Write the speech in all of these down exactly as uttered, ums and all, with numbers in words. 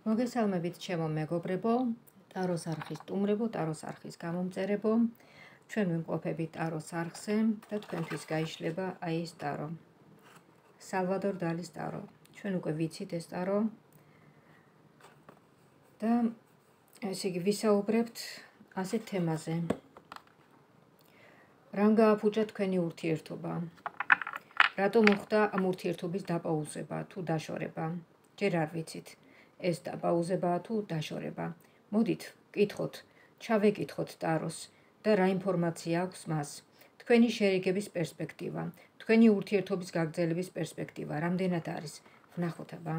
მოგესალმებით ჩემო მეგობრებო, ტაროს არხის სტუმრებო, ტაროს არხის გამომწერებო. ჩვენ ვიმყოფებით ტაროს არხზე და თქვენთვის გაიშლება აი ეს ტარო. სალვადორ დალის ტარო. ჩვენ უკვე ვიცით ეს ტარო და ესე იგი ვისაუბრებთ ასეთ თემაზე. რამ გააფუჭა თქვენი ურთიერთობა? რატომ მოხდა ამ ურთიერთობის დაპაუზება თუ დაშორება? ჯერ არ ვიცით. ეს დაპაუზებაა თუ დაშორება. მოდით, ვკითხოთ, ჩავეკითხოთ ტაროს და რა ინფორმაცია აქვს მას. თქვენი შერიგების პერსპექტივა, თქვენი ურთიერთობის გაგრძელების პერსპექტივა, რამდენად არის? ვნახოთ აბა.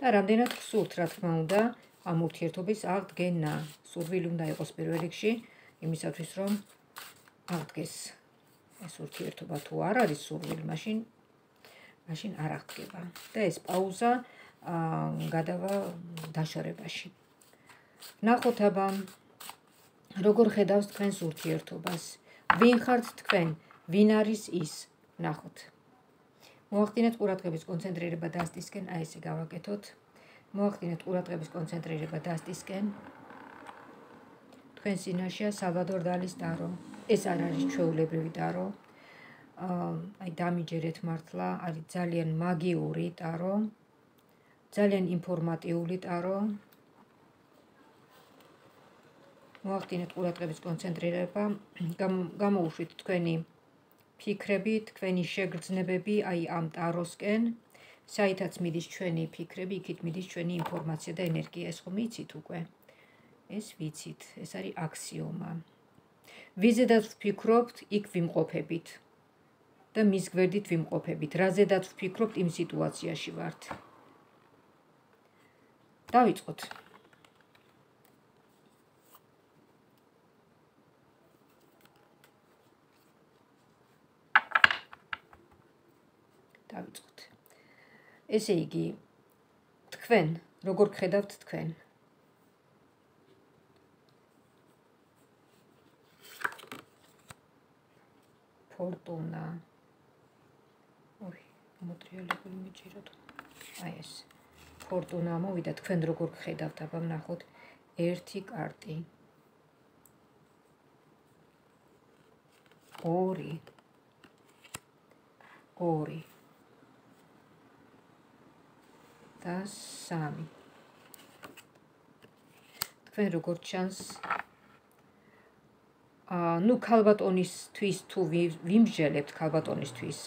და რამდენად გსურთ, რა თქმა უნდა, ამ ურთიერთობის აღდგენა. სურვილი უნდა იყოს პირველ რიგში, იმისათვის რომ აღდგეს ეს ურთიერთობა. თუ არ არის სურვილი, მაშინ მაშინ არ აღდგება. და ეს პაუზა გადავა დაშორებაში. ვნახოთ აბა, როგორ ხედავს თქვენს ურთიერთობას? ვინ ხართ თქვენ? ვინ არის ის? ვნახოთ. მოახდინეთ ყურადღების კონცენტრირება დასტისკენ, აი ესე გავაკეთოთ. მოახდინეთ ყურადღების კონცენტრირება დასტისკენ. თქვენ წინაშეა სალვადორ დალის ტარო. ეს არ არის ჩვეულებრივი ტარო. აი დამიჯერეთ მართლა, არის ძალიან მაგიური ტარო. ძალიან ინფორმატიული ტარო. მოახდინეთ ყურადღების კონცენტრირება, გამოუშვით თქვენი ფიქრები, თქვენი შეგრძნებები აი ამ ტაროსკენ, საითაც მიდის ჩვენი ფიქრები, იქით მიდის ჩვენი ინფორმაცია და ენერგია. ეს ხომ იცით უკვე? ეს ვიცით, ეს არის აქსიომა. ვიზედაც ვფიქრობთ, იქ ვიმყოფებით და მის გვერდით ვიმყოფებით. რაზედაც ვფიქრობთ, იმ სიტუაციაში ვართ. დავიწყოთ. დავიწყოთ. ესე იგი, თქვენ, როგორ გხედავთ თქვენ? ფორტუნა. ოი, მოტრიალებული მიჭიროთ. აი ეს. ფორტუნა მოვიდა, თქვენ როგორ გხედავთ? აბა ვნახოთ. ერთი კარტი. ორი. ორი. და სამი. თქვენ როგორ ჩანს? აა, ნუ ქალბატონისთვის თუ ვიმსჯელებთ ქალბატონისთვის.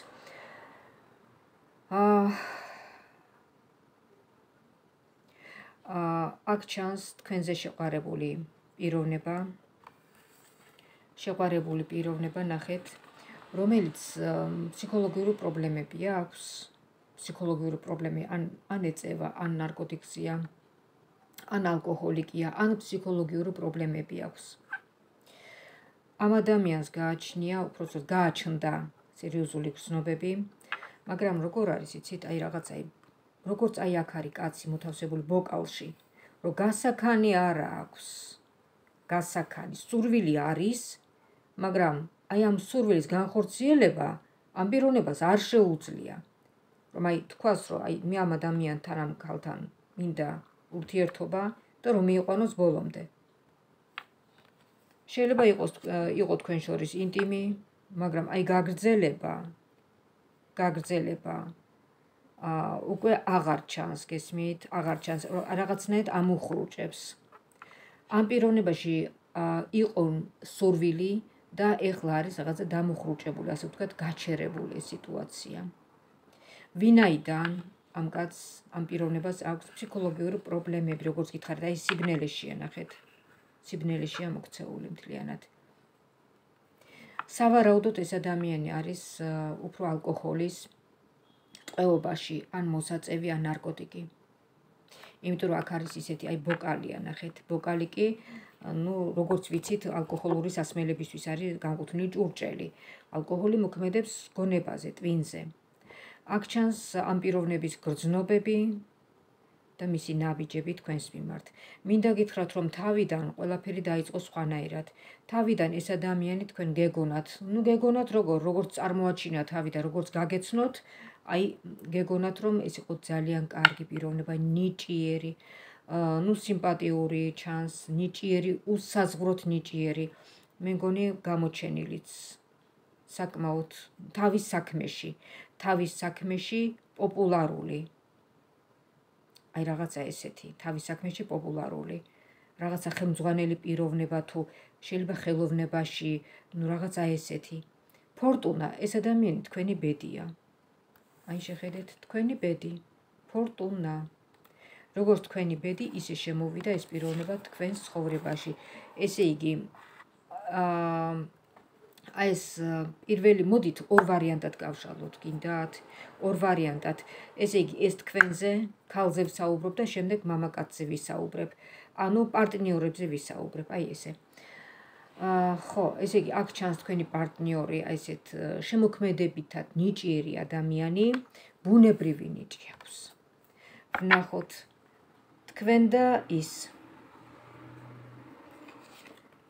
აა აქ ჩანს თქვენზე შეყვარებული პიროვნება, შეყვარებული პიროვნება ნახეთ, რომელიც ფსიქოლოგიური პრობლემები აქვს, ფსიქოლოგიური პრობლემები ან ან ეწევა, ან ნარკოტიკზეა, ან ალკოჰოლიკია, ან ფსიქოლოგიური პრობლემები აქვს. ამ ადამიანს გააჩნია, უпростоც გააჩნდა სერიოზული გრძნობები, მაგრამ როგორ არის, იცით, აი რაღაცა როგორც აი აქ არის კაცი მოთავსებული ბოკალში, რომ გასაქანი არ აქვს, გასაქანი, სურვილი არის, მაგრამ აი ამ სურვილის განხორციელება ამ პიროვნებას არ შეუძლია. რომ აი თქვას, რომ აი მე ამ ადამიანთან ამ ქალთან მინდა ურთიერთობა და რომ მიიყვანოს ბოლომდე. შეიძლება იყოს იყო თქვენ შორის ინტიმი, მაგრამ აი გაგრძელება, გაგრძელება აა უკვე აღარ ჩანს, გესმით, აღარ ჩანს, რაღაცნაირად ამუხრუჭებს. ამ პიროვნებაში იყო სურვილი და ეხლა არის რაღაცა დამუხრუჭებული, ასე ვთქვათ, გაჩერებული სიტუაცია. ვინაიდან ამ კაცს, ამ პიროვნებას აქვს ფსიქოლოგიური პრობლემები, როგორც გითხარით, აი სიბნელეშია, ნახეთ. სიბნელეშია მოქცეული მთლიანად. სავარაუდოდ ეს ადამიანი არის უფრო ალკოჰოლის ტყვეობაში, ან მოსაწევი, ან ნარკოტიკი. იმიტომ რომ აქ არის ისეთი, აი ბოკალია, ნახეთ, ბოკალი კი, ნუ როგორც ვიცით, ალკოჰოლური სასმელებისთვის არის განკუთვნილი ჭურჭელი. ალკოჰოლი მოქმედებს გონებაზე, ტვინზე. აქ ჩანს ამ პიროვნების გრძნობები და მისი ნაბიჯები თქვენს მიმართ. მინდა გითხრათ, რომ თავიდან ყველაფერი დაიწყო სხვანაირად. თავიდან ეს ადამიანი თქვენ გეგონათ, ნუ გეგონათ როგორ, როგორც წარმოაჩინა თავიდან, როგორც გაგეცნოთ, აი გეგონათ, რომ ეს იყო ძალიან კარგი პიროვნება, ნიჭიერი, ნუ სიმპათიური ჩანს, ნიჭიერი, უსაზღვროთ ნიჭიერი. მე მგონი გამოჩენილიც საკმაოდ თავის საქმეში, თავის საქმეში პოპულარული. აი რაღაცა ესეთი, თავის საქმეში პოპულარული. რაღაცა ხელმძღვანელი პიროვნება თუ შეიძლება ხელოვნებაში, ნუ რაღაცა ესეთი. ფორტუნა, ეს ადამიანი თქვენი ბედია. აი შეხედეთ, თქვენი ბედი, ფორტუნა. როგორც თქვენი ბედი, ისე შემოვიდა ეს პიროვნება თქვენს ცხოვრებაში. ესე იგი, აი ეს პირველი, მოდით ორ ვარიანტად გავშალოთ, გინდათ? ორ ვარიანტად. ესე იგი, ეს თქვენზე, ქალზე ვსაუბრობ და შემდეგ მამაკაცზე ვისაუბრებ. ანუ პარტნიორებზე ვისაუბრებ, აი ესე. ხო, ესე იგი, აქ ჩანს თქვენი პარტნიორი, აი ესეთ შემოქმედებითად ნიჭიერი ადამიანი, ბუნებრივი ნიჭი აქვს. ვნახოთ თქვენ და ის.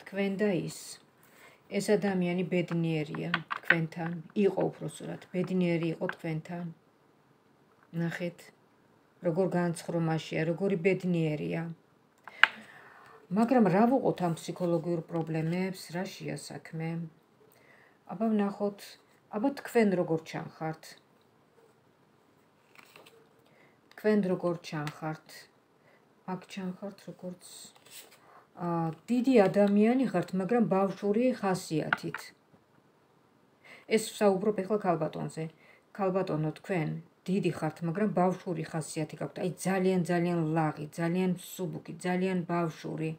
თქვენ და ის. ეს ადამიანი ბედნიერია თქვენთან, იყო უпроსტად, ბედნიერი იყო თქვენთან. ნახეთ, როგორ განცხრომაშია, როგორი ბედნიერია. მაგრამ რა ვუყოთ ამ ფსიქოლოგიურ პრობლემებს, რა შეა საქმე? აბა ვნახოთ, აბა თქვენ როგორ ჩანხართ? თქვენ როგორ ჩანხართ? აქ ჩანხართ როგორც დიდი ადამიანი ხართ, მაგრამ ბავშვური ხასიათით. ეს ვსაუბრობ ახლა ქალბატონზე. ქალბატონო, თქვენ დიდი ხართ, მაგრამ ბავშვური ხასიათი გაქვთ. აი ძალიან ძალიან ლაღი, ძალიან მსუბუქი, ძალიან ბავშვური.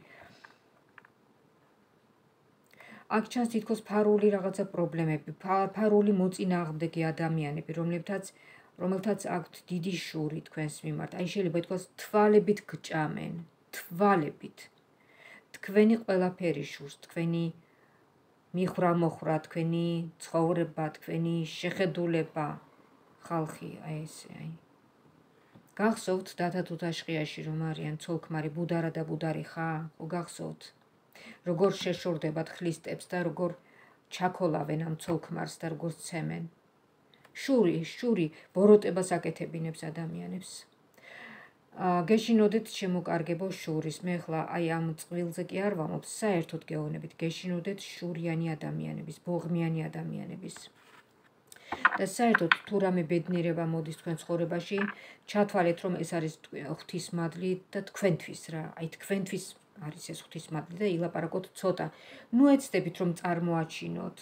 აქ ჩანს თითქოს ფარული რაღაცა პრობლემები, ფარული მოწინააღმდეგე ადამიანები, რომლებთაც რომელთაც აქვთ დიდი შური თქვენს მიმართ. აი შეიძლება ითქვას თვალებით გჭამენ, თვალებით. თქვენი ყველაფერი შურს, თქვენი მიხრა-მოხრა, თქვენი ცხოვრება, თქვენი შეხედულება, ხალხი, აი ესე, აი. გახსოვთ დათა თუთაშყიაში რომ არიან ცოლ-ქმარი ბუდარა და ბუდარი ხა? ხო გახსოვთ? როგორ შეშორდებათ ხლისტებს და როგორ ჩაქოლავენ ამ ცოლ-ქმარს და როგორ ცემენ. შური, შური ბოროტებას აკეთებინებს ადამიანებს. გეშინოდეთ შემოკარგებო შურის. მე ხლა აი ამ წყვილზე კი არ ვამბობ, საერთოდ გეუბნებით, გეშინოდეთ შურიანი ადამიანების, ბოღმიანი ადამიანების. და საერთოდ თუ რამე ბედნიერება მოდის თქვენ ცხოვრებაში, ჩათვალეთ რომ ეს არის ღვთისმადლი და თქვენთვის რა, აი თქვენთვის არის ეს ღვთისმადლი და ილაპარაკოთ ცოტა. ნუ ეცდებით რომ წარმოაჩინოთ.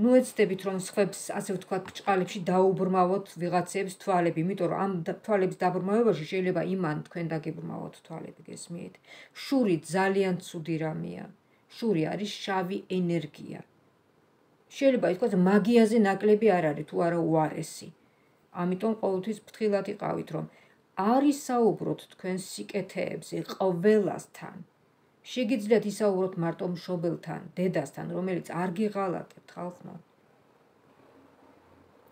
ნუ ეცდებით რომ სხვებს, ასე ვთქვათ, ბრჭყალებში დაუბრმავოთ ვიღაცებს თვალები, იმიტომ რომ ამ თვალების დაბრმავებაში შეიძლება იმან თქვენ დაგებრმავოთ თვალები, გესმით? შური ძალიან ცუდი რამეა. შური არის შავი ენერგია. შეიძლება ითქვას მაგიაზე ნაკლები არ არის, თუ არა უარესი. ამიტომ ყოველთვის ფრთხილად იყავით, რომ არ ისაუბროთ თქვენ სიკეთეებზე ყველასთან. შეგიძლიათ ისაუბროთ მარტო მშობელთან, დედასთან, რომელიც არ გიღალატებთ ხალხო.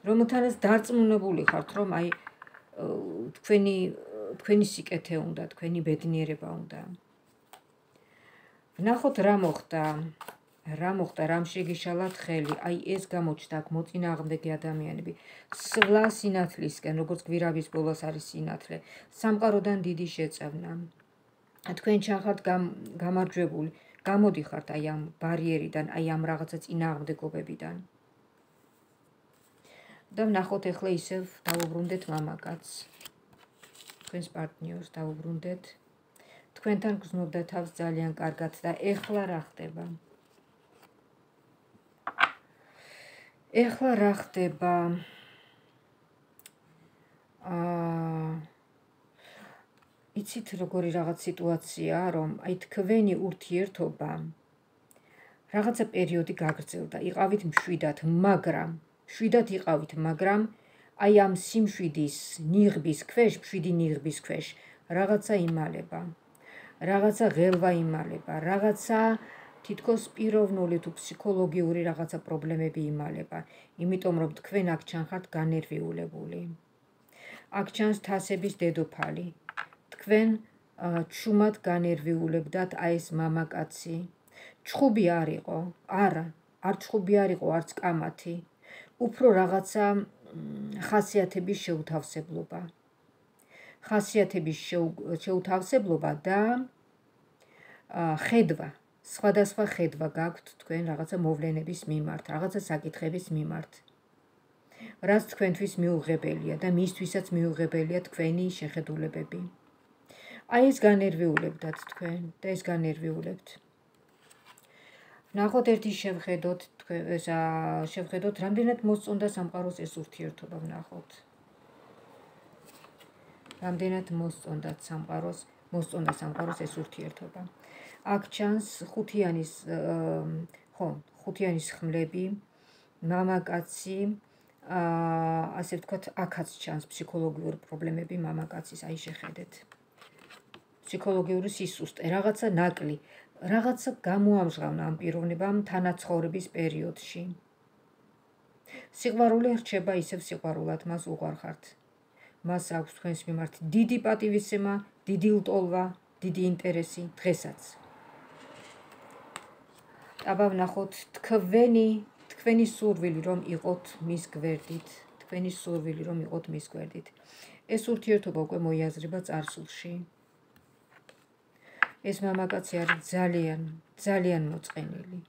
რომელთანაც დარწმუნებული ხართ, რომ აი თქვენი თქვენი სიკეთე უნდა, თქვენი ბედნიერება უნდა. ვნახოთ რა მოხდა. რა მოხდა, რამ შეგიშალათ ხელი, აი ეს გამოჩნდა აქ მოწინააღმდეგე ადამიანები. სვლა სინათლისკენ, როგორც გვირავის ბოლოს არის სინათლე, სამყაროდან დიდი შეწევნა. თქვენ ჩახართ გამარჯვებული, გამოდიხართ აი ამ ბარიერიდან, აი ამ რაღაცა წინააღმდეგობებიდან. და ვნახოთ ახლა ისევ დავუბრუნდეთ მამაკაცს. თქვენს პარტნიორს დავუბრუნდეთ. თქვენთან გრძნობდა თავს ძალიან კარგად და ეხლა რა ხდება? ეხლა რა ხდება? აა იცით როგორი რაღაც სიტუაციაა, რომ აი თქვენი ურთიერთობა რაღაცა პერიოდი გაგრძელდა, იყავით მშვიდად, მაგრამ მშვიდად იყავით, მაგრამ აი ამ სიმშვიდის ნიღბის ქვეშ, მშვიდი ნიღბის ქვეშ რაღაცა იმალება. რაღაცა ღელვა იმალება, რაღაცა თითქოს პიროვნული თუ ფსიქოლოგიური რაღაცა პრობლემები იმალება, იმიტომ რომ თქვენ აქ ჩანხართ განერვიულებული. აქ ჩანს თასების დედოფალი. თქვენ ჩუმად განერვიულებდათ აი ეს მამაკაცი. ჩხუბი არ იყო, არა, არ ჩხუბი არ იყო, არც კამათი. უფრო რაღაცა ხასიათების შეუთავსებლობა. ხასიათების შეუთავსებლობა და ხედვა, სხვადასხვა ხედვა გაქვთ თქვენ რაღაცა მოვლენების მიმართ, რაღაცა საკითხების მიმართ, რაც თქვენთვის მიუღებელია და მისთვისაც მიუღებელია თქვენი შეხედულებები. აი ეს განერვიულებდათ თქვენ და ეს განერვიულებთ. ნახოთ ერთი შევხედოთ თქვენ ეს შევხედოთ რამდენად მოსწონდა სამყაროს ეს ურთიერთობა ვნახოთ. რამდენად მოსწონდათ სამყაროს, მოსწონდა სამყაროს ეს ურთიერთობა. აქ ჩანს ხუთიანის ხო, ხუთიანის ხმლები, მამაკაცი, ასე ვთქვათ, აქაც ჩანს ფსიქოლოგიური პრობლემები მამაკაცის, აი შეხედეთ. ფსიქოლოგიური სისუსტე, რაღაცა ნაკლი, რაღაცა გამოამჟღავნა ამ პიროვნებამ თანაცხოვრების პერიოდში. სიყვარული რჩება ისევ სიყვარულად, მას უყვარხართ. მას აქვს თქვენს მიმართ დიდი პატივისცემა, დიდი ლტოლვა, დიდი ინტერესი დღესაც. აბა ვნახოთ თქვენი, თქვენი სურვილი რომ იყოთ მის გვერდით, თქვენი სურვილი რომ იყოთ მის გვერდით. ეს ურთიერთობა უკვე მოიაზრება წარსულში. ეს მამაკაცი არის ძალიან, ძალიან მოწყენილი.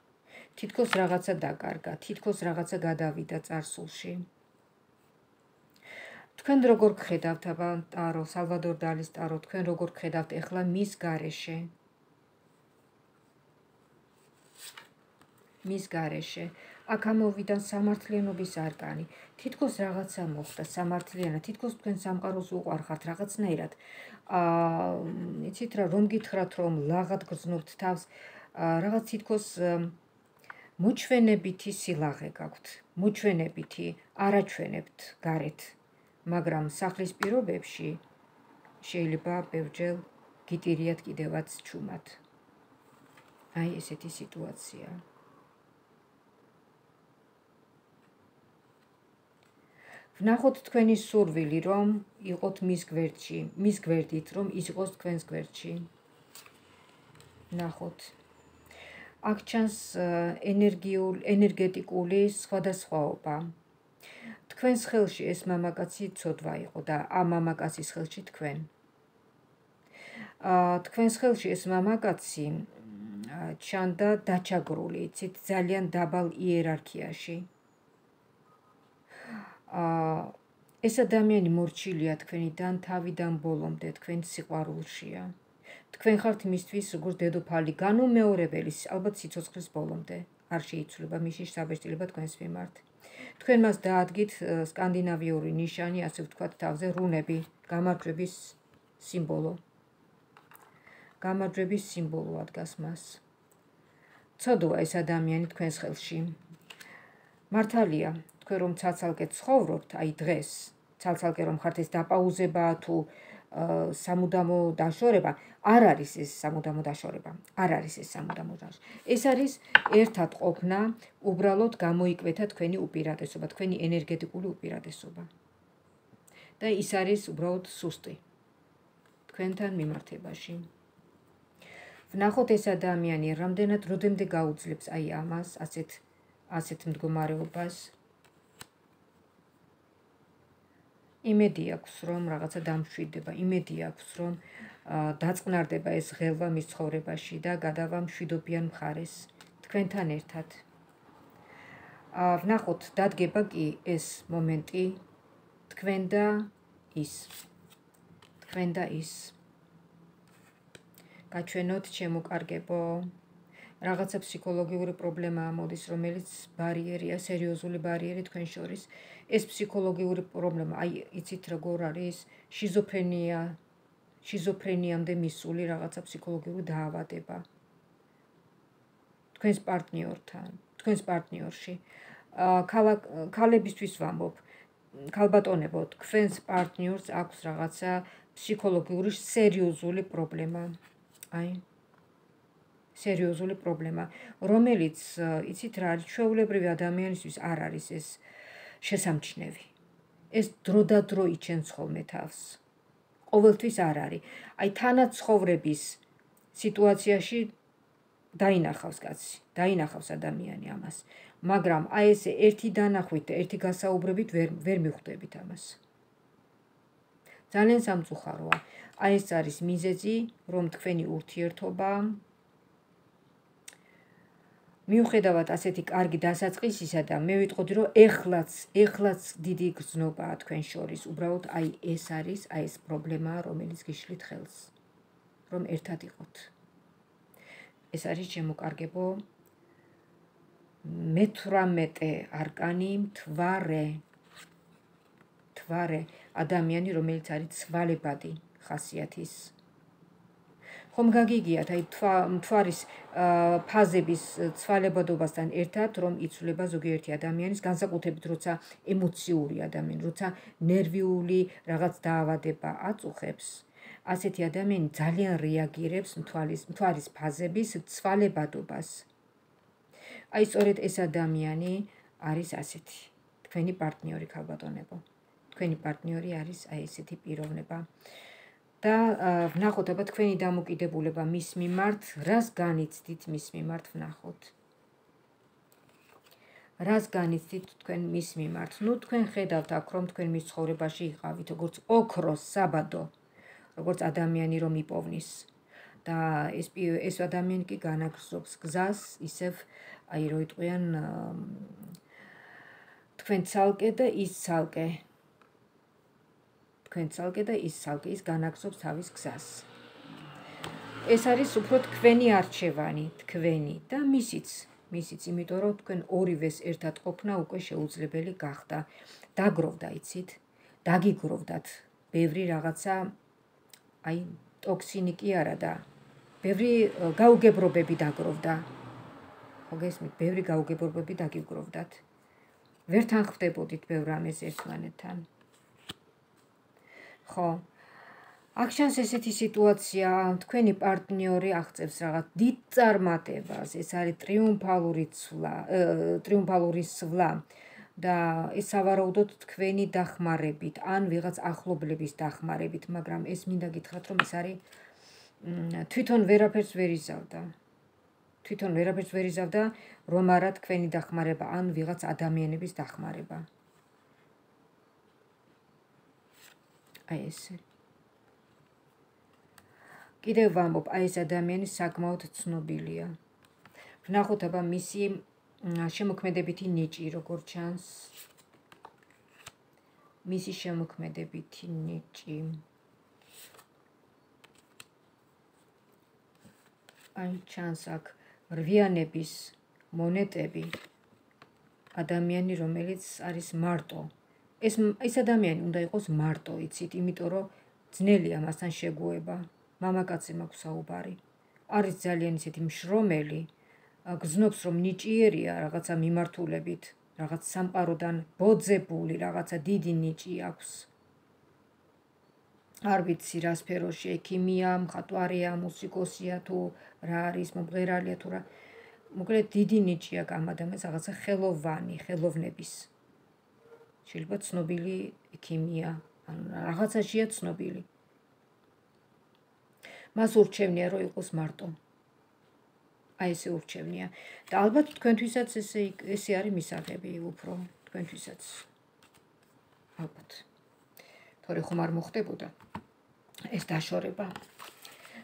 თითქოს რაღაცა დაკარგა, თითქოს რაღაცა გადავიდა წარსულში. თქვენ როგორ გხედავთ აბა ტარო, სალვადორ დალის ტარო, თქვენ როგორ გხედავთ ეხლა მის გარეშე? მის გარეშე. აქ ამოვიდა სამართლიანობის არკანი. თითქოს რაღაცა მოხდა სამართლიანად, თითქოს თქვენ სამყაროს უყვარხართ რაღაცნაირად. აა, იცით რა, რომ გითხრათ რომ ლაღად გრძნობთ თავს, რაღაც თითქოს მოჩვენებითი სილაღე გაქვთ, მოჩვენებითი, არაჩვენებთ გარეთ. მაგრამ სახლის პირობებში შეიძლება ბევრჯერ გიტირიათ კიდევაც ჩუმად. აი ესეთი სიტუაცია. ვნახოთ თქვენი სურვილი რომ იყოთ მის გვერდში, მის გვერდით რომ ის იყოს თქვენს გვერდში. ვნახოთ. აქ ჩანს ენერგიული, ენერგეტიკული სხვადასხვაობა. თქვენს ხელში ეს მამაკაცი ცოდვა იყო და ამ მამაკაცის ხელში თქვენ. თქვენს ხელში ეს მამაკაცი ჩანდა დაჩაგრული, იცით, ძალიან დაბალ იერარქიაში. ეს ადამიანი მორჩილია თქვენიდან თავიდან ბოლომდე, თქვენ სიყვარულშია. თქვენ ხართ მისთვის როგორც დედოფალი, განუმეორებელი, ალბათ სიცოცხლის ბოლომდე. არ შეიცვლება მისი საბეჭდილება თქვენს მიმართ. თქვენ მას დაადგით სკანდინავიური ნიშანი, ასე ვთქვათ, თავზე რუნები, გამარჯვების სიმბოლო. გამარჯვების სიმბოლო ადგას მას. ცოდვა ეს ადამიანი თქვენს ხელში. მართალია, თქვენ რომ ცალ-ცალკე ცხოვრობთ, აი დღეს, ცალ-ცალკე რომ ხართ ეს დაპაუზება თუ სამუდამო დაშორება, არ არის ეს სამუდამო დაშორება, არ არის ეს სამუდამო დაშორება. ეს არის ერთად ყოფნა, უბრალოდ გამოიკვეთა თქვენი უპირატესობა, თქვენი ენერგეტიკული უპირატესობა. და ის არის უბრალოდ სუსტი თქვენთან მიმართებაში. ვნახოთ ეს ადამიანი რამდენად როდემდე გაუძლებს აი ამას, ასეთ ასეთ მდგომარეობას. იმედი აქვს რომ რაღაცა დამშვიდდება, იმედი აქვს რომ დაწყნარდება ეს ღელვა მის ცხოვრებაში და გადავა მშვიდობიან მხარეს თქვენთან ერთად. ვნახოთ დადგება კი ეს მომენტი თქვენ და ის. თქვენ და ის. გაჩვენოთ შემოკარგებო. რაღაცა ფსიქოლოგიური პრობლემაა მოდის, რომელიც ბარიერია, სერიოზული ბარიერი თქვენ შორის. ეს ფსიქოლოგიური პრობლემა, აი იცით როგორ არის, შიზოფრენია, შიზოფრენიამდე მისული რაღაცა ფსიქოლოგიური დაავადება. თქვენს პარტნიორთან, თქვენს პარტნიორში. ქალებისთვის ვამბობ, ქალბატონებო, თქვენს პარტნიორს აქვს რაღაცა ფსიქოლოგიური სერიოზული პრობლემა. აი სერიოზული პრობლემა, რომელიც, იცით რა არის, ჩვეულებრივი ადამიანისთვის არ არის ეს შესამჩნევი. ეს დროდადრო იჩენს ხოლმე თავს. ყოველთვის არ არის. აი თანაცხოვრების სიტუაციაში დაინახავს კაცი, დაინახავს ადამიანი ამას. მაგრამ აი ესე ერთი დანახვით და ერთი გასაუბრებით ვერ ვერ მიხვდებით ამას. ძალიან სამწუხაროა. აი ეს არის მიზეზი, რომ თქვენი ურთიერთობა მიუხედავად ასეთი კარგი დასაწყისისა და მე ვიტყოდი, რომ ეხლაც, ეხლაც დიდი გრძნობაა თქვენ შორის. უბრალოდ აი ეს არის, აი ეს პრობლემაა, რომელიც გიშლით ხელს, რომ ერთად იყოთ. ეს არის შემოკარგებო მეთვრამეტე არკანი, მთვარე. მთვარე, ადამიანი, რომელიც არის ცვალებადი ხასიათის. ხომ გაგიგიათ, აი მთვარის ფაზების ცვალებადობასთან ერთად, რომ იცვლება ზოგიერთი ადამიანის, განსაკუთრებით როცა ემოციური ადამიანი, როცა ნერვიული რაღაც დაავადება აწუხებს, ასეთი ადამიანი ძალიან რეაგირებს მთვარის მთვარის ფაზების ცვალებადობას. აი სწორედ ეს ადამიანი არის ასეთი, თქვენი პარტნიორი ქალბატონებო. თქვენი პარტნიორი არის აი ესეთი პიროვნება. და ვნახოთ, აბა თქვენი დამოკიდებულება მის მიმართ, რას განიცდით მის მიმართ ვნახოთ. რას განიცდით თქვენ მის მიმართ? ნუ თქვენ ხედავთ აქ, რომ თქვენ მის ცხოვრებაში იყავით, როგორც ოქროს საბადო, როგორც ადამიანი, რომ იპოვნის. და ეს ეს ადამიანი კი განაგრძობს გზას, ისევ აი რო იტყვიან თქვენ ცალკე და ის ცალკე. თქვენ ცალკე და ის ცალკე, ის განაგრძობს თავის გზას. ეს არის უფრო თქვენი არჩევანი, თქვენი და მისიც, მისიც, იმიტომ რომ თქვენ ორივეს ერთად ყოფნა უკვე შეუძლებელი გახდა. დაგროვდა, იცით? დაგიგროვდათ ბევრი რაღაცა, აი ტოქსინი კი არა და ბევრი გაუგებრობები დაგროვდა. ხო გესმით, ბევრი გაუგებრობები დაგიგროვდათ. ვერ თანხმდებოდით ბევრ ამას ერთმანეთთან. ხო, აქ ჩანს ესეთი სიტუაცია, თქვენი პარტნიორი აღწევს რაღაც დიდ წარმატებას, ეს არის ტრიუმფალური ცვლა, ტრიუმფალური სვლა და ეს სავარაუდოდ თქვენი დახმარებით, ან ვიღაც ახლობლების დახმარებით, მაგრამ ეს მინდა გითხრათ, რომ ეს არის თვითონ ვერაფერს ვერ იზავდა. თვითონ ვერაფერს ვერ იზავდა, რომ არა თქვენი დახმარება, ან ვიღაც ადამიანების დახმარება. აი ესე. კიდევ ვამბობ, აი ეს ადამიანი საკმაოდ ცნობილია. ვნახოთ, აბა მისი შემოქმედებითი ნიჭი, როგორ ჩანს. მისი შემოქმედებითი ნიჭი. აი ჩანს აქ რვიანების მონეტები. ადამიანი, რომელიც არის მარტო. ეს ეს ადამიანი უნდა იყოს მარტო, იცით, იმიტომ რომ ძნელია მასთან შეგუება. მამაკაცზე მაქვს საუბარი. არის ძალიან ისეთი მშრომელი, გრძნობს რომ ნიჭიერია რაღაცა მიმართულებით, რაღაც სამყაროდან ბოძებული, რაღაცა დიდი ნიჭი აქვს. არ ვიცი რა სფეროში, ექიმია, მხატვარია, მუსიკოსია თუ რა არის, მომღერალია თუ რა. მოკლედ დიდი ნიჭი აქვს ამ ადამიანს, რაღაცა ხელოვანი, ხელოვნების. შეიძლება ცნობილი ექიმია, ან რაღაცაშია ცნობილი. მას ურჩევნია, რომ იყოს მარტო. აი ესე ურჩევნია. და ალბათ თქვენთვისაც ესე ესე არის მისაღები უფრო თქვენთვისაც. ალბათ. თორე ხომ არ მოხდებოდა ეს დაშორება.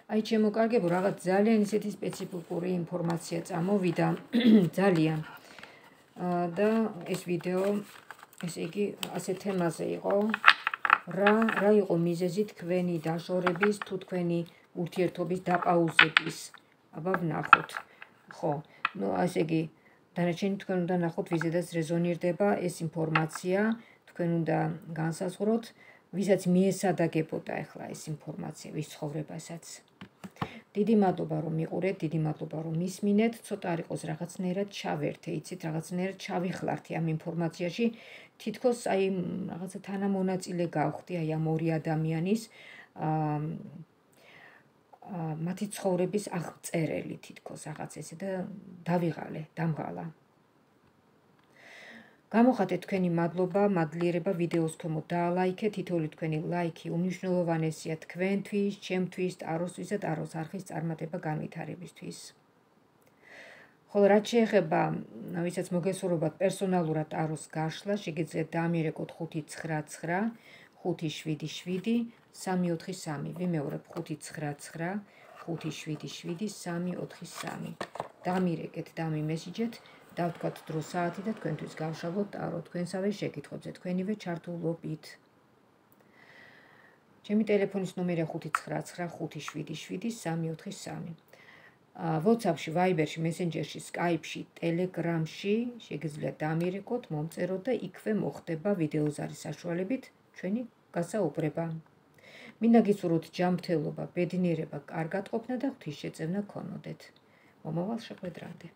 აი ჩემო კარგებო, რაღაც ძალიან ისეთი სპეციფიკური ინფორმაცია წამოვიდა, ძალიან. და ეს ვიდეო, ესე იგი, ასე თემაზე იყო, რა რა იყო მიზეზი თქვენი დაშორების, თუ თქვენი ურთიერთობის დაპაუზების. აბა ვნახოთ. ხო, ნუ ასე იგი, დანარჩენი თქვენ უნდა ნახოთ, ვიზედაც რეზონირდება ეს ინფორმაცია, თქვენ უნდა განსაზღვროთ, ვისაც მიესადაგებოდა ახლა ეს ინფორმაცია, ვის ცხოვრებასაც. დიდი მადლობა რომ მიყურეთ, დიდი მადლობა რომ მისმინეთ, ცოტა არ იყოს რაღაცნაირად ჩავერთე, იცით, რაღაცნაირად ჩავიხლართი ამ ინფორმაციაში, თითქოს აი რაღაცა თანამონაწილე გავხდი აი ამ ორი ადამიანის მათი ცხოვრების აღწერელი თითქოს რაღაც ესე და დავიღალე, დამღალა. გამოხატეთ თქვენი მადლობა, მადლიერება ვიდეოს ქვემოთ დაალაიქეთ, თითოეული თქვენი ლაიქი უმნიშვნელოვანესია თქვენთვის, ჩემთვის, ტაროსთვის და ტაროს არხის წარმატება განვითარებისთვის. ხოლო რაც შეეხება, ვისაც მოგესურვებათ პერსონალურად ტაროს გაშლა, შეგიძლიათ დაამიერეკოთ ხუთი ცხრა ცხრა ხუთი შვიდი შვიდი სამი ოთხი სამი. ვიმეორებ ხუთი ცხრა ცხრა, ხუთი შვიდი შვიდი, სამი ოთხი სამი. დამირეკეთ, დამიმესიჯეთ, დავთქვათ დრო საათი და თქვენთვის გავშალოთ ტარო თქვენსავე შეკითხვებზე, თქვენივე ჩართულობით. ჩემი ტელეფონის ნომერია ხუთი ცხრა ცხრა, ხუთი შვიდი შვიდი, სამი ოთხი სამი. WhatsApp-ში, Viber-ში, Messenger-ში, Skype-ში, Telegram-ში შეგიძლიათ დამირეკოთ, მომწეროთ და იქვე მოხდება ვიდეოზარის საშუალებით ჩვენი გასაუბრება. მინდა გისურვოთ ჯანმრთელობა, ბედნიერება, კარგად ყოფნა და ღვთისშეწევნა გქონოდეთ. მომავალ შეხვედრამდე.